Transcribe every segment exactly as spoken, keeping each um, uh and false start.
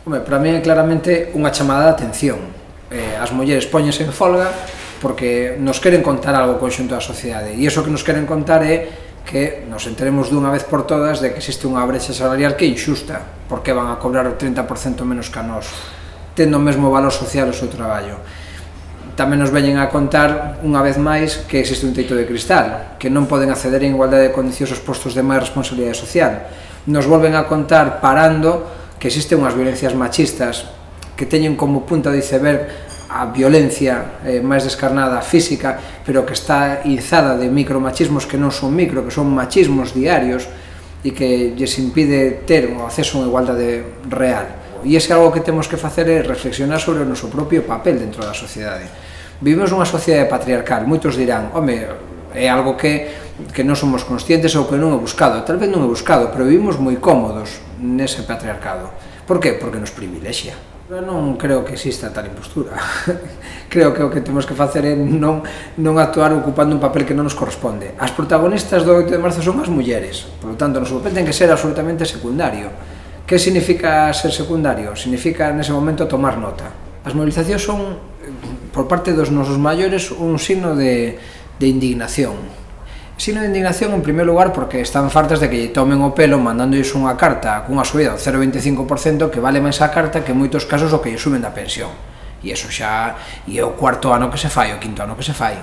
Home, para mí é claramente unha chamada de atención. Eh, as mulleres póñense en folga porque nos queren contar algo conxunto da sociedade, e iso que nos queren contar é que nos enteremos dunha vez por todas de que existe unha brecha salarial que é injusta, porque van a cobrar o trinta por cento menos que a nós, tendo o mesmo valor social o seu traballo. Tamén nos veñen a contar, unha vez máis, que existe un teito de cristal, que non poden acceder en igualdade de condicións aos postos de máis responsabilidade social. Nos volven a contar, parando, que existen unhas violencias machistas que teñen como punta de iceberg a violencia eh, máis descarnada física, pero que está izada de micromachismos que non son micro, que son machismos diarios e que lles impide ter o acceso a unha igualdade real. E ese algo que temos que facer é reflexionar sobre o noso propio papel dentro da sociedade. Vivimos nunha sociedade patriarcal, moitos dirán, home, é algo que, que non somos conscientes ou que non é buscado. Tal vez non é buscado, pero vivimos moi cómodos nese patriarcado. Por qué? Porque nos privilexia. Eu non creo que exista tal impostura. Creo que o que temos que facer é non, non actuar ocupando un papel que non nos corresponde. As protagonistas do oito de marzo son as mulleres, por lo tanto, o noso papel ten que ser absolutamente secundario. Que significa ser secundario? Significa, nese momento, tomar nota. As movilizacións son, por parte dos nosos maiores, un signo de, de indignación. Signo de indignación, en primer lugar, porque están fartas de que lle tomen o pelo mandándoles unha carta cunha subida do cero veinticinco por ciento que vale máis a carta que en moitos casos o que lle suben da pensión. E iso xa é o cuarto ano que se fai, o quinto ano que se fai.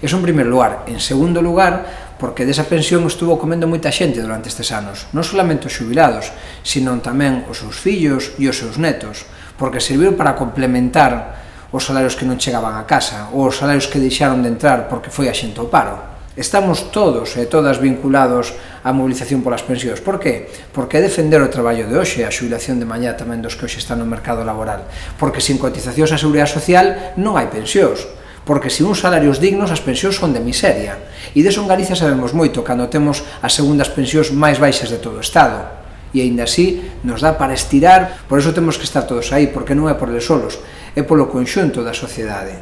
Iso en primer lugar. En segundo lugar, porque desa pensión estuvo comendo moita xente durante estes anos, non solamente os xubilados, sino tamén os seus fillos e os seus netos, porque serviu para complementar os salarios que non chegaban a casa, ou os salarios que deixaron de entrar porque foi a xente ao paro. Estamos todos e todas vinculados á movilización polas pensións. Por qué? Porque é defender o traballo de hoxe, a xubilación de mañá tamén dos que hoxe están no mercado laboral. Porque sin cotizacións á seguridade social non hai pensións. Porque sin uns salarios dignos as pensións son de miseria. E deso en Galicia sabemos moito cando temos as segundas pensións máis baixas de todo o Estado. E aínda así nos dá para estirar, por iso temos que estar todos aí, porque non é por eles solos, é polo conxunto da sociedade.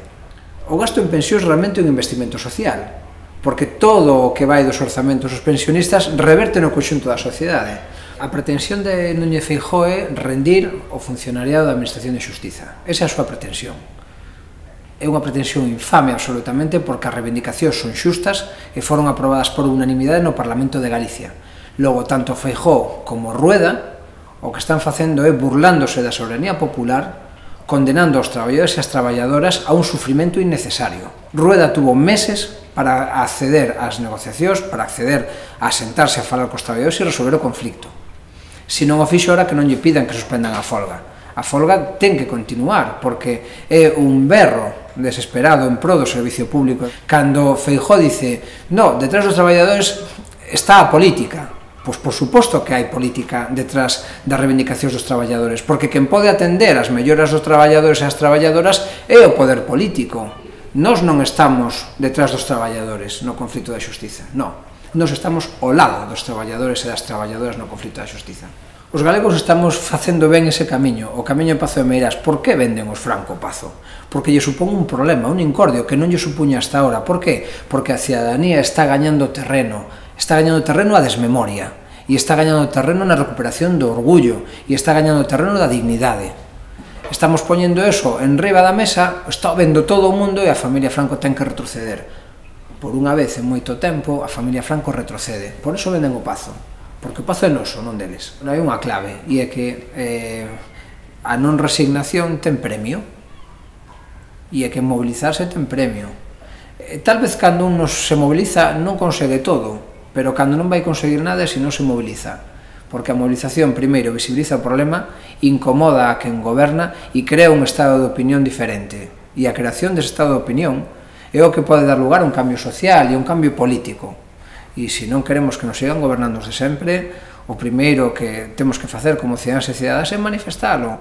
O gasto en pensións realmente é un investimento social, porque todo o que vai dos orzamentos dos pensionistas reverte no conxunto da sociedade. A pretensión de Núñez Feijóo é rendir o funcionariado da Administración de Xustiza. Esa é a súa pretensión. É unha pretensión infame absolutamente porque as reivindicacións son xustas e foron aprobadas por unanimidade no Parlamento de Galicia. Logo, tanto Feijóo como Rueda o que están facendo é burlándose da soberanía popular, condenando aos traballadores e as traballadoras a un sufrimento innecesario. Rueda tuvo meses para acceder ás negociacións, para acceder a sentarse a falar cos traballadores e resolver o conflicto. Se non o fixo, ora que non lle pidan que suspendan a folga. A folga ten que continuar, porque é un berro desesperado en pro do servicio público. Cando Feijóo dice, no, detrás dos traballadores está a política. Pois por suposto que hai política detrás das reivindicacións dos traballadores, porque quen pode atender as melloras dos traballadores e as traballadoras é o poder político. Nós non estamos detrás dos traballadores no conflito da xustiza, non. Nós estamos ao lado dos traballadores e das traballadoras no conflito da xustiza. Os galegos estamos facendo ben ese camiño, o camiño de Pazo de Meirás. Por que venden os Franco Pazo? Porque lle supón un problema, un incordio que non lle supuña hasta ahora. Por que? Porque a cidadanía está gañando terreno, está gañando terreno a desmemoria, e está gañando terreno na recuperación do orgullo, e está gañando terreno da dignidade. Estamos poñendo eso en riba da mesa, está vendo todo o mundo e a familia Franco ten que retroceder. Por unha vez en moito tempo, a familia Franco retrocede. Por eso venden o Pazo, porque o Pazo é noso, non deles. Non hai unha clave, e é que eh, a non resignación ten premio, e é que mobilizarse ten premio. Eh, tal vez cando un nos se moviliza non consegue todo, pero cando non vai conseguir nada se non se moviliza. Porque a movilización, primeiro, visibiliza o problema, incomoda a quen goberna e crea un estado de opinión diferente. E a creación dese estado de opinión é o que pode dar lugar a un cambio social e a un cambio político. E se non queremos que nos sigan gobernando de sempre, o primeiro que temos que facer como cidadáns e cidadas é manifestalo.